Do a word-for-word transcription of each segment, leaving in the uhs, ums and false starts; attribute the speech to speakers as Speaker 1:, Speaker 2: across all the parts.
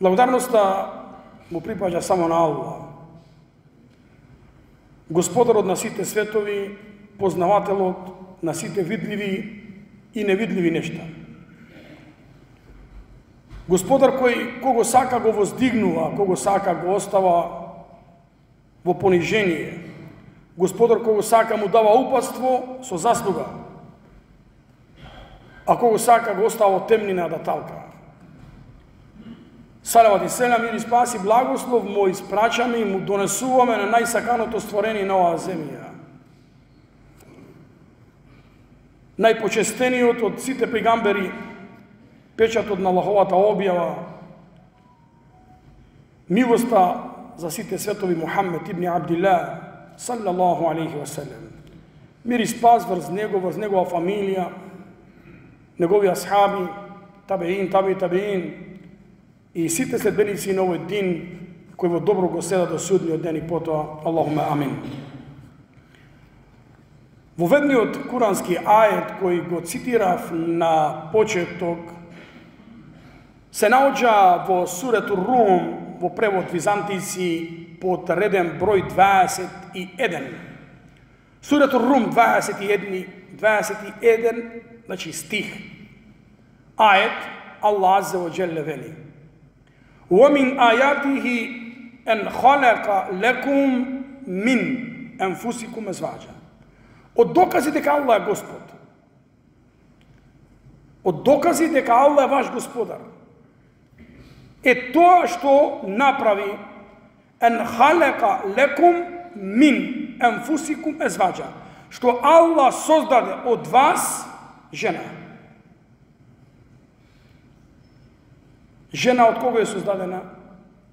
Speaker 1: Благодарноста му припаѓа само на Аллах, Господарот на сите светови, познавателот на сите видливи и невидливи нешта. Господар кој кого сака го воздигнува, кого сака го остава во понижение. Господар кого сака му дава упатство со заслуга, а кого сака го остава во темнина да талка. Салават и селам, мир и спас и благослов му испрачаме и му донесуваме на најсаканото створение на оваа земја. Најпочестениот од сите пегамбери, печатот на Аллаховата објава, милоста за сите светови Мухаммед ибн Абдилlah, саллаллаху алейхи ва салем. Мир и спас врз него, врз негова фамилија, негови асхаби, табеин, таби табеин, и сите следбеници на овој дин, кои во добро го седат до судниот ден и потоа, Аллахуме амин. Во ведниот курански ајет кој го цитирав на почеток, се наоѓа во сурету Рум, во превод византици, под реден број дваесет и еден. Сурету Рум дваесет и еден, дваесет и еден, значи стих. Ајет, Аллах аззе ва џелле вели: وَمِنْ آيَاتِهِ أَنْ خَلَقَ لَكُمْ مِنْ أَنْفُسِكُمْ أَزْوَاجًا. Од докази дека Аллах е Господ, од докази дека Аллах е ваш Господар, е тоа што направи أَنْ خَلَقَ لَكُمْ مِنْ أَنْفُسِكُمْ أَزْوَاجًا, што Аллах создаде од вас жена. Жена од кого е создадена?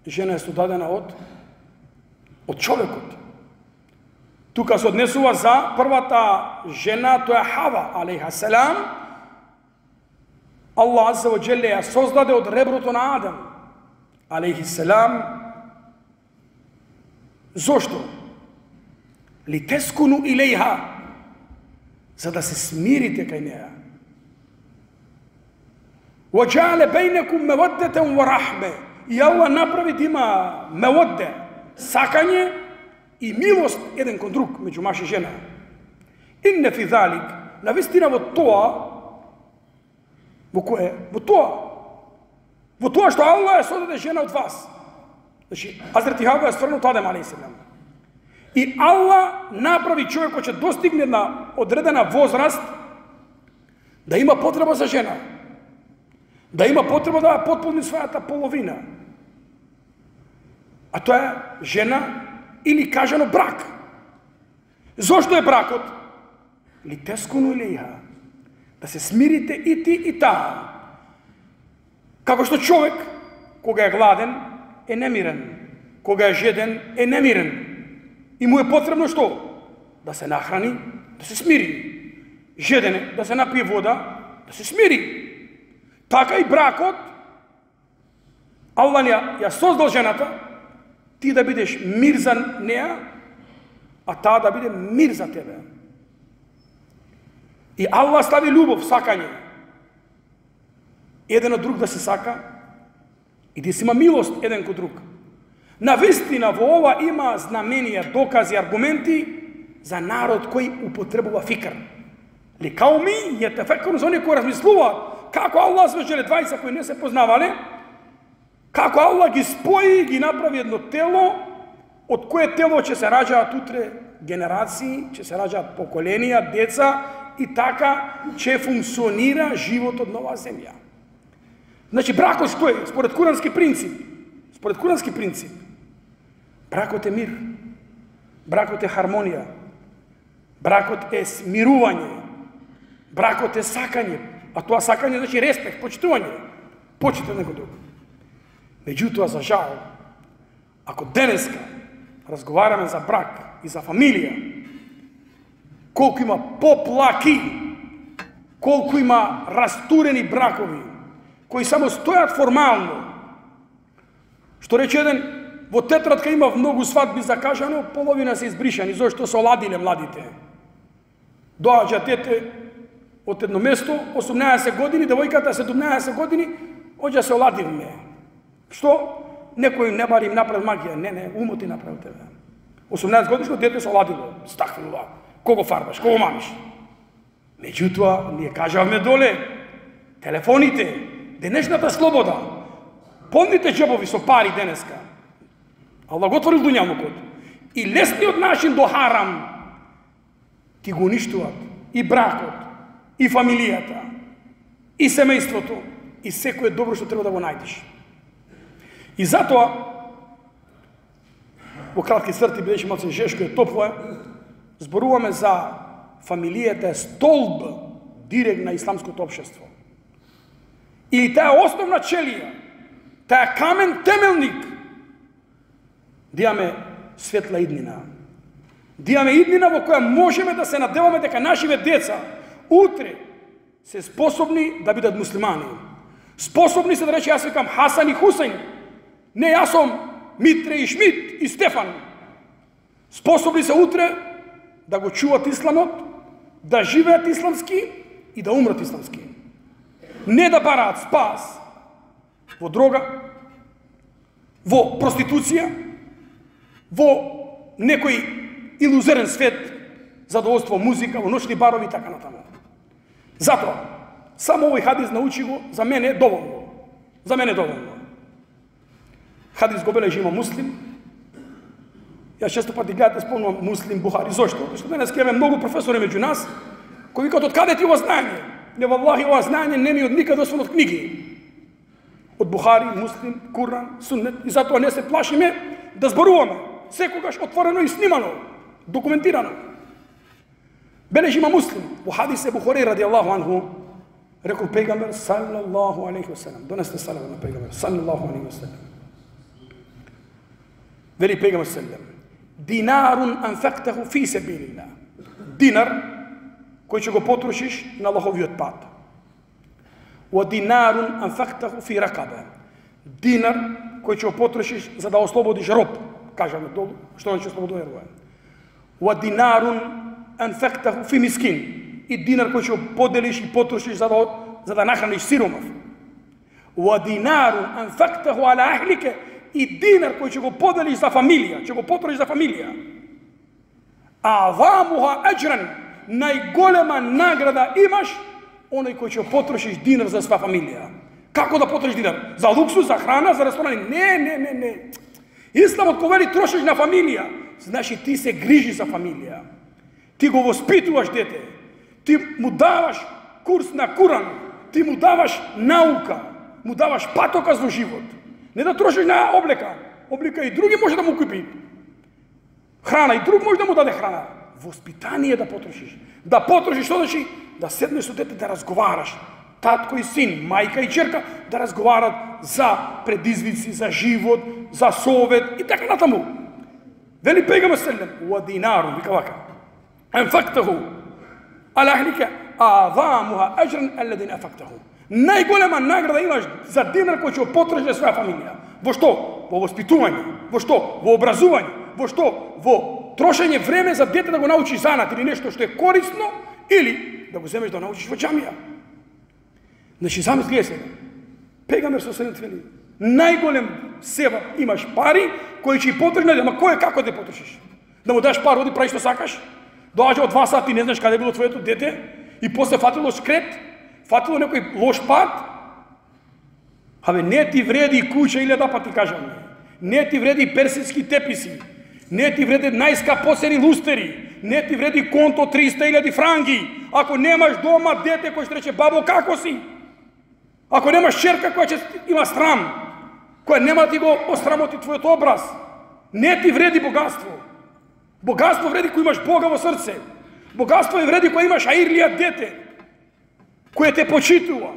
Speaker 1: Жена е создадена од од човекот. Тука се однесува за првата жена, тоа е Хава алейха селам. Аллах аззе ва џелле ја создаде од реброто на Адам алейхи селам. Зошто? Литескуну илејха, за да се смирите кај неа. وَجَعَلَ بَيْنَكُمْ مَوَدَّةً وَرَحْمَةً. И Аллах направи да има меводде, сакање и милост еден кон друг меѓу маж и жена. Инне фи залик, навистина во тоа, во кое? Во тоа. Во тоа што Аллах е создаде жена од вас. Значи, Азрeti Хава е стварен од Адем алейхиссалам. И Аллах направи човек кој ќе достигне на одредена возраст да има потреба за жена. Да има потреба да потполни својата половина. А тоа е жена или кажано брак. Зошто е бракот? Литескуну илејха, да се смирите и ти и таа. Како што човек, кога е гладен, е немирен. Кога е жеден, е немирен. И му е потребно што? Да се нахрани, да се смири. Жеден е, да се напие вода, да се смири. Така и бракот, Аллах ја, ја создал жената, ти да бидеш мир за неа, а таа да биде мир за тебе. И Аллах стави љубов, сакање. Еден од друг да се сака и да си има милост еден кон друг. Навистина во ова има знаменија, докази, аргументи за народ кој употребува фикр. Ли кауми јетефеккерун, за оние кои размислуваат како Аллах свежеле двајца кои не се познавале, како Аллах ги спои, ги направи едно тело, од кое тело ќе се раѓаат утре генерации, ќе се раѓаат поколенија, деца, и така ќе функционира животот на оваа земја. Значи, бракот што е? Според курански принцип. Според курански принцип. Бракот е мир. Бракот е хармонија. Бракот е смирување. Бракот е сакање. А тоа сакање значи респект, почитување. Почитување некој друг. Меѓутоа, за жал, ако денеска разговараме за брак и за фамилија, колку има поплаки, колку има растурени бракови, кои само стојат формално. Што рече еден, во тетрадка има многу свадби закажано, половина се избришани, зашто се оладиле младите. Доаѓа дете од едно место, осумнаесет години, девојката седумнаесет години, оѓа се оладивме. Што? Некој не бари им направил магија. Не, не, умот ти направил тебе. осумнаесет годишно дете се оладило. Стахфирулlah. Кого фарбаш, кого мамиш? Меѓутоа, ние кажавме доле, телефоните, денешната слобода, полните джебови со пари денеска. Аллах го отворил дуњавнокот. И лесниот начин до харам ти го уништуваат и бракот, и фамилијата, и семејството, и секое добро што треба да го најдеш. И затоа, во кратки црти, бидејќи малце жешко е топло е, зборуваме за фамилијата е столб директ на исламското општество. И таа е основна челија, таа е камен темелник да имаме светла иднина. Да имаме иднина во која можеме да се надеваме дека нашиве деца утре се способни да бидат муслимани. Способни се да рече, јас викам Хасан и Хусейн. Не, јас сум Митре и Шмит и Стефан. Способни се утре да го чуват исламот, да живеат исламски и да умрат исламски. Не да бараат спас во дрога, во проституција, во некој илузерен свет, задоволство, музика, во ночни барови и така натаму. Затоа, само овој хадис научи го, за мене е доволно. За мене е доволно. Хадис го бележи има Муслим. Јас често пати гледате спомнувам Муслим, Бухари. Зошто? Зашто денес имаме многу професори меѓу нас, кои викаат од каде ти ова знање? Не, валлахи, ова знање не ми од никаде освен од книги. Од Бухари, Муслим, Куран, Суннет. И затоа не се плашиме да зборуваме. Секогаш отворено и снимано, документирано. Бележи има Муслим. Во хадис е Бухари ради Аллаху анху, рекол пегамбер саллаллаху алейхи васелем. Донесте салам на пегамбер саллаллаху алейхи васелем. Вели пегамбер саллаллаху динарун анфактаху фи себилилlah. Динар кој ќе го потрошиш на Аллаховиот пат. Wa dinarun anfaqtahu fi raqaba. Динар кој ќе го потрошиш за да ослободиш роб. Кажаме долу, што ќе ослободува роб. Wa dinarun anfaqtahu fi miskin. И динар кој ќе го поделиш и потрошиш за да за да нахраниш сиромав. Wa dinarun anfaqtahu ala ahlika. И динар кој ќе го поделиш за фамилија, ќе го потрошиш за фамилија. Авамуха аџран, најголема награда имаш оној кој ќе потрошиш динар за своја фамилија. Како да потрошиш динар? За луксус, за храна, за ресторани? Не, не, не, не. Исламот кој вели трошиш на фамилија, значи ти се грижи за фамилија. Ти го воспитуваш дете. Ти му даваш курс на Куран. Ти му даваш наука. Му даваш патока за живот. Не да трошиш на облека. Облека и други може да му купи. Храна и друг може да му даде храна. Воспитание да потрошиш. Да потрошиш, што значи? Да седнеш со дете да разговараш. Татко и син, мајка и черка да разговарат за предизвици, за живот, за совет и така натаму. Вели пегаме селем, уа динару, вика вака. Анфактаху, ала ахлика, авамуха аџран алладин анфактаху. Најголема награда имаш за динар кој ќе потрошиш своја фамилија. Во што? Во воспитување. Во што? Во образување. Во што? Во трошење време за дете да го научи занат или нешто што е корисно, или да го земеш да научиш во џамија. Значи, замисли се. Пегамбер со селем вели, најголем сева имаш пари кои ќе потрошиш, ама кој е како да потрошиш? Да му даш пари, оди прави што сакаш? Доаѓа од два сати, не знаеш каде било твоето дете и после фатило скрет, фатило некој лош пат. Абе, не ти вреди куќа илјада пати кажам. Не ти вреди персидски теписи. Не ти вреди најскапосени лустери. Не ти вреди конто триста илјади франги. Ако немаш дома дете кој ќе рече бабо како си? Ако немаш черка која ќе има срам, која нема ти го осрамоти твојот образ, не ти вреди богатство. Богатство вреди кој имаш Бога во срце. Богатство е вреди кој имаш аирлија дете, кој те почитува,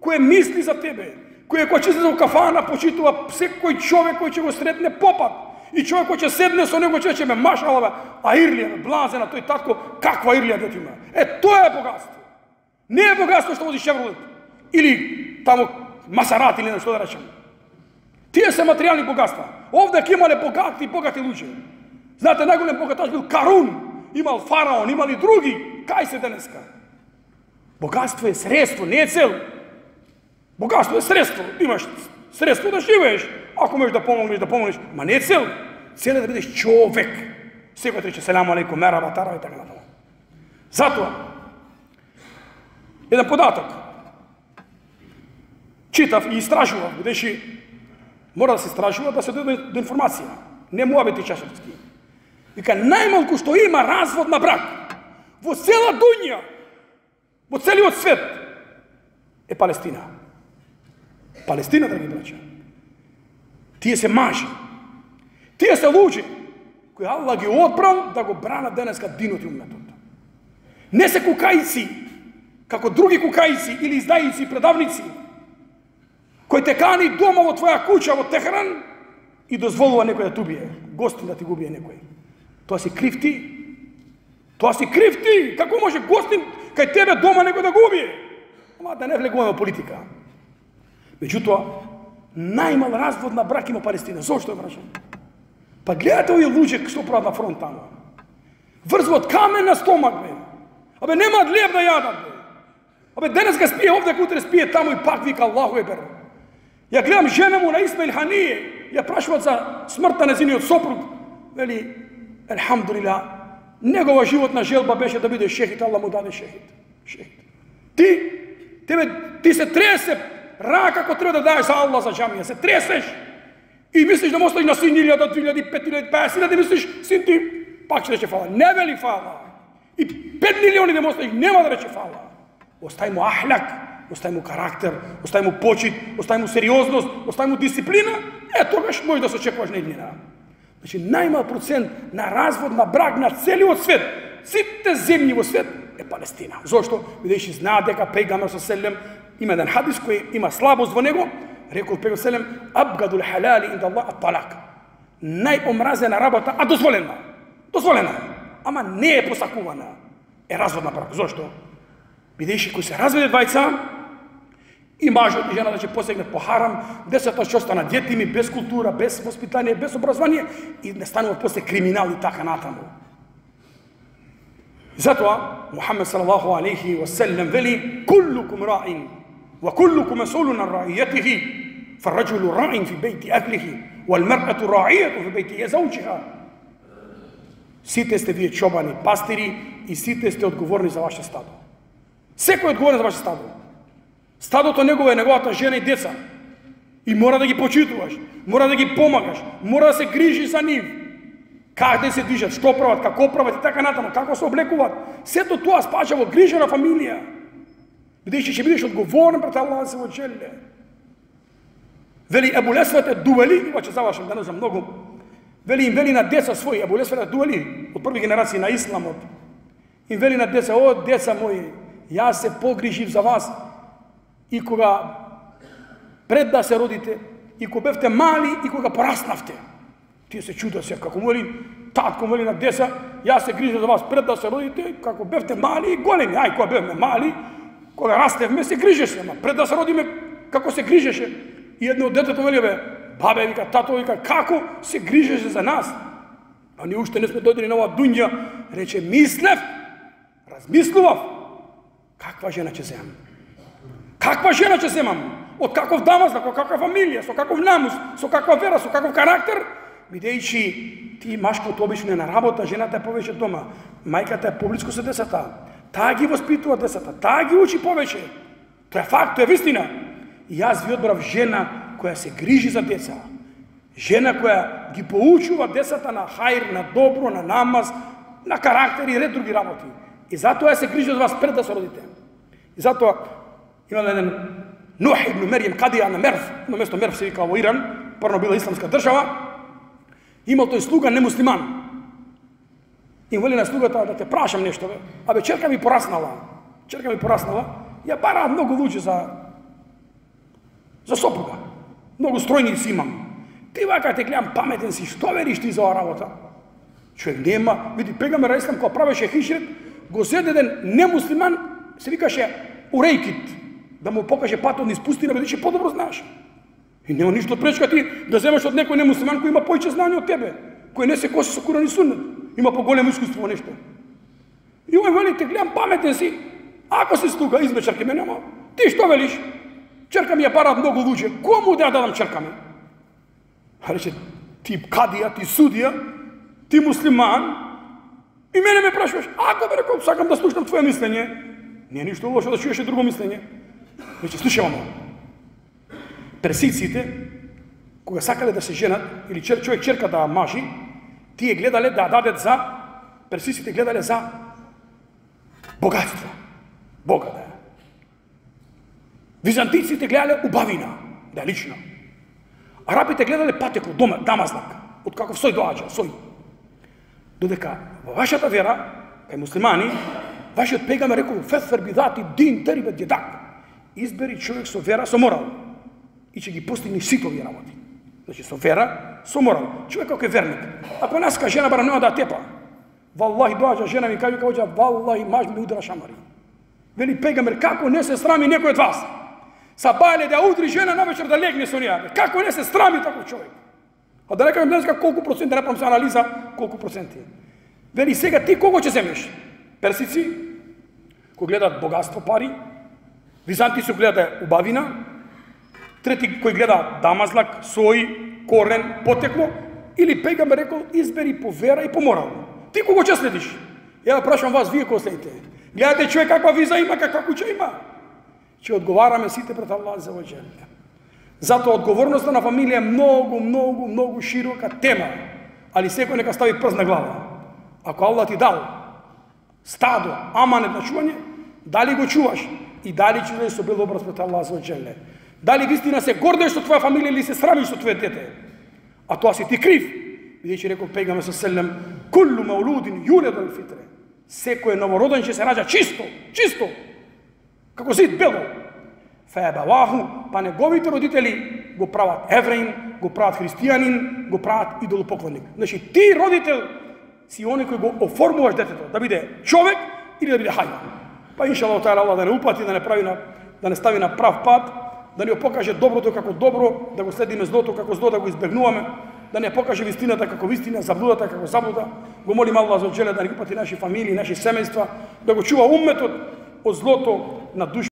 Speaker 1: кој мисли за тебе, кој кој ќе се за кафана почитува секој човек кој ќе го сретне попат. И човек кој ќе седне со него ќе рече ме машалава, аирлија, блазена, тој татко, каква аирлија дете има. Е, тоа е богатство. Не е богатство што води Шевролет или тамо Масарати или нешто да речем. Тие се материјални богатства. Овде ќе имале богати, богати луѓе. Знаете, најголем богаташ бил Карун, имал фараон, имали други. Кај се денеска? Богатство е средство, не е цел. Богатство е средство. Имаш средство да живееш. Ако можеш да помогнеш, да помогнеш, ма не е цел. Цел е да бидеш човек. Секој рече селаму алейкум, мераба, тарава и така натаму. Затоа, еден податок. Читав и истражував, бидејќи мора да се истражува, да се дојде до информација. Не муабети чашевски. Вика, најмалку што има развод на брак во цела дуња, во целиот свет, е Палестина. Палестина, драги браќа. Тие се мажи. Тие се луѓе кои Аллах ги одбрал да го бранат денеска динот и уметот. Не се кукајци, како други кукајци или издајици и предавници, кој те кани дома во твоја куќа во Техран и дозволува некој да те убие, гостин да ти го убие некој. Тоа си крив ти. Тоа си крив ти. Како може гостин кај тебе дома некој да го убие? Ама да не влегуваме во политика. Меѓутоа, најмал развод на брак има Палестина. Зошто е, браќа? Па гледате овие луѓе што прават на фронт таму. Врзват камен на стомак, бе. Абе немаат леб да јадат, бе. Абе денеска спие овде, утре спие таму и пак вика Аллаху екбер. Ја гледам жена му на Исмаил Ханije, ја прашуваат за смртта на незиниот сопруг. Вели, елхамдулилlah, негова животна желба беше да биде шехид, Аллах му даде шехид. Шехид. Ти, тебе, ти се тресе рака како треба да даеш за Аллах за џамија, се тресеш и мислиш да му оставиш на син илјада, две илјади, пет илјади, петдесет илјади, мислиш син ти пак ќе рече фала. Не вели фала. И пет милиони да му оставиш, нема да рече фала. Остај му ахлак, остај му карактер, остај му почит, остај му сериозност, остај му дисциплина, е тогаш може да се очекуваш нејнина. Значи најмал процент на развод на брак на целиот свет, сите земји во свет е Палестина. Зошто? Бидејќи знаат дека пејгамбер со селем има еден хадис кој има слабост во него, рекол пејгамбер селем абгадул халали инда Аллах ат-талак. Најомразена работа, а дозволена. Дозволена, ама не е посакувана. Е развод на брак. Зошто? Бидејќи кој се разведе двајца, и мажот и жената ќе посегнат по харам, децата ќе останат детими, без култура, без воспитание, без образование и не стануваат после криминал и така натаму. Затоа Мухаммед салаллаху алейхи ва селем вели: "Куллукум раин, ва куллукум мас'улун ан ра'iyyatihi, фар-раджулу раин фи бейти ахлихи, вал-мар'ату ра'iyyату фи бейти заучиха." Сите сте вие чобани, пастири и сите сте одговорни за ваше стадо. Секој е одговорен за ваше стадо. Стадото негово е неговата жена и деца. И мора да ги почитуваш, мора да ги помагаш, мора да се грижи за нив. Как да се движат, што прават, како прават и така натаму, како се облекуваат. Сето тоа спаѓа во грижа на фамилија. Бидејќи ќе бидеш одговорен пред Аллах се во челе. Вели Ебу Лесвет е дуели, ова ќе завршам, да не знам многу. Вели им вели на деца своји, Ебу Лесвет е дуели, од први генерации на исламот. Им вели на деца: "О, деца мои, јас се погрижив за вас и кога пред да се родите, и кога бевте мали, и кога пораснавте." Тие се чудат се, како му вели татко, му вели на деца: "Јас се грижам за вас пред да се родите, како бевте мали и големи." Ај, кога бевме мали, кога растевме, се грижеше, ама пред да се родиме, како се грижеше. И едно од детето вели: "Бе, бабе, вика, тато, вика, како се грижеше за нас? А ние уште не сме дојдени на оваа дуња." Рече: "Мислев, размислував, каква жена ќе земам? Каква жена ќе земам? Од каков дамазлак, од каква фамилија, со каков намус, со каква вера, со каков карактер?" Бидејќи ти машкото обично е на работа, жената е повеќе дома, мајката е поблиску со децата, таа ги воспитува децата, таа ги учи повеќе. Тоа е факт, тоа е вистина. И јас ви одбрав жена која се грижи за деца, жена која ги поучува децата на хајр, на добро, на намаз, на карактер и ред други работи. И затоа се грижи за вас пред да се родите. И затоа има еден Нух ибн Мерием, кадија на Мерв, на место Мерв се вика во Иран, прво била исламска држава, имал тој слуга немуслиман. И вели на слугата: "Да те прашам нешто, бе. Абе, черка ми пораснала. Черка ми пораснала. Ја бараат многу луѓе за за сопруга. Многу стројници имам. Ти вака те гледам паметен си, што вериш ти за оваа работа?" Човек нема, види, пегамбер ислам кога правеше хиџрет, го зеде еден немуслиман, се викаше Урейкит, да му покаже патот низ пустина, бидејќи подобро знаеш. И нема ништо пречка ти да земеш од некој немуслиман кој има поиќе знање од тебе, кој не се коси со Куран и Суннет, има поголемо искуство во нешто. И овој вели: "Те гледам паметен си, ако си слуга, измечар ке ме нема. Ти што велиш?" Черка ми ја барат многу луѓе. Кому да ја дадам черка ми? А рече, ти кадија, ти судија, ти муслиман, и мене ме прашуваш, ако бе рекол, сакам да слушнам твое мислење, не е ништо лошо да чуеш и друго мислење. Рече, слушай, мамо, персиците, кога сакале да се женат, или човек черка да мажи, тие гледале да дадат за, персиците гледале за богатство. Бога да е. Византиците гледале убавина, да е лична. Арабите гледале патеко, дома, дамазлак, од каков сој доаѓа, сој. Додека во вашата вера, кај муслимани, вашиот пегамбер рекол, фетфер бидати дин терибе дедак. Избери човек со вера, со морал. И ќе ги постигне сите овие работи. Значи со вера, со морал. Човек кој е верник. Ако наска жена бара нема да тепа. Валлахи доаѓа жена ми каже кај валлахи маж ми удара шамари. Вели пегамбер, како не се срами некој од вас? Сабајле да удри жена навечер да легне со неја. Како не се срами таков човек? А да рекам денеска колку проценти, да направам се анализа, колку проценти. Вели сега ти кого ќе земеш? Персици, кои гледат богатство, пари, византици гледаат убавина, трети кои гледаат дамазлак, сој, корен, потекло, или пегамбер рекол избери по вера и по морал. Ти кого ќе следиш? Ја прашам вас, вие кој следите? Гледате човек каква виза има, каква куќа има? Ќе одговараме сите пред Аллах за ваџел. Затоа одговорноста на фамилија е многу, многу, многу широка тема, али секој нека стави прст на глава. Ако Аллах ти дал стадо, аманет на чување, дали го чуваш и дали ќе бидеш со бел образ пред Аллах за ваџел. Дали вистина се гордеш со твоја фамилија или се срамиш со твое дете? А тоа си ти крив. Бидејќи рекол пегамбер селем, куллу маулудин юладу ал фитре. Секој новороден ќе се раѓа чисто, чисто. Како зид бело. Феабаваху, па неговите родители го прават евреин, го прават христијанин, го прават идолопоклонник. Значи ти родител си оној кој го оформуваш детето да биде човек или да биде хајван. Па иншаллах таала Аллах да не упати, да не прави на да не стави на прав пат, да ни покаже доброто како добро, да го следиме злото како зло, да го избегнуваме, да не покаже вистината како вистина, заблудата како заблуда. Го молим Аллах за джеле да ни упати наши фамилии, наши семејства, да го чува умметот од злото на душ.